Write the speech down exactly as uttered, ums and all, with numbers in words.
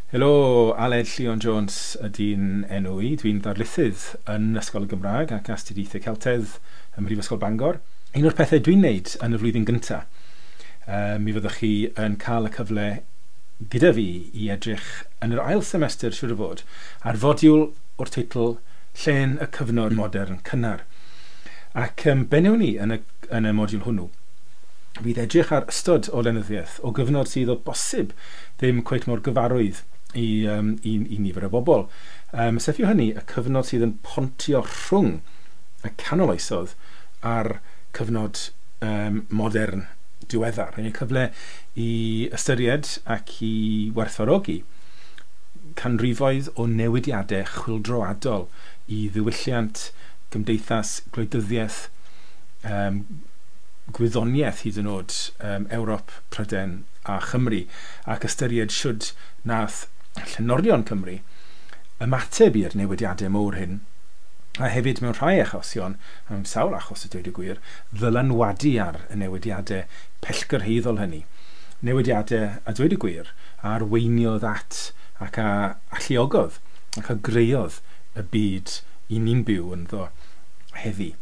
Helo, Aled Llion Jones ydy'n enw i. Dwi'n ddarlithydd yn Ysgol y Gymraeg ac Astudiaethau Celtedd ym Mhrifysgol Bangor. Un o'r pethau dwi'n neud yn y flwyddyn gyntaf, um, mi fyddwch chi yn cael y cyfle gyda fi i edrych yn yr ail semester, siŵr o fod, ar fodiwl o'r teitl Llên y Cyfnod Modern Cynnar. Ac um, be wnawn ni yn y, yn y modiwl hwnnw fydd edrych ar ystod o lenyddiaeth o gyfnod sydd o bosib ddim cweit mor gyfarwydd i, um, i, i nifer o bobl. Um, sef yw hynny y cyfnod sydd yn pontio rhwng y canol oesoedd a'r cyfnod um, modern diweddar. Yn y cyfle i ystyried ac i werthfawrogi canrifoedd o newidiadau chwyldroadol i ddiwylliant, gymdeithas, gwleidyddiaeth, um, gwyddoniaeth hyd yn oed, um, Ewrop, Prydain a Chymru, ac ystyried shwd nath llenorion Cymru ymateb i'r newidiadau mowr hyn, a hefyd mewn rhai achosion, mewn sawl achos a dweud y gwir, ddylanwadu ar y newidiadau pellgyrhaeddol hynny. Newidiadau, a dweud y gwir, a arweiniodd at ac a alluogodd ac a greuodd y byd i ni'n byw ynddo heddi.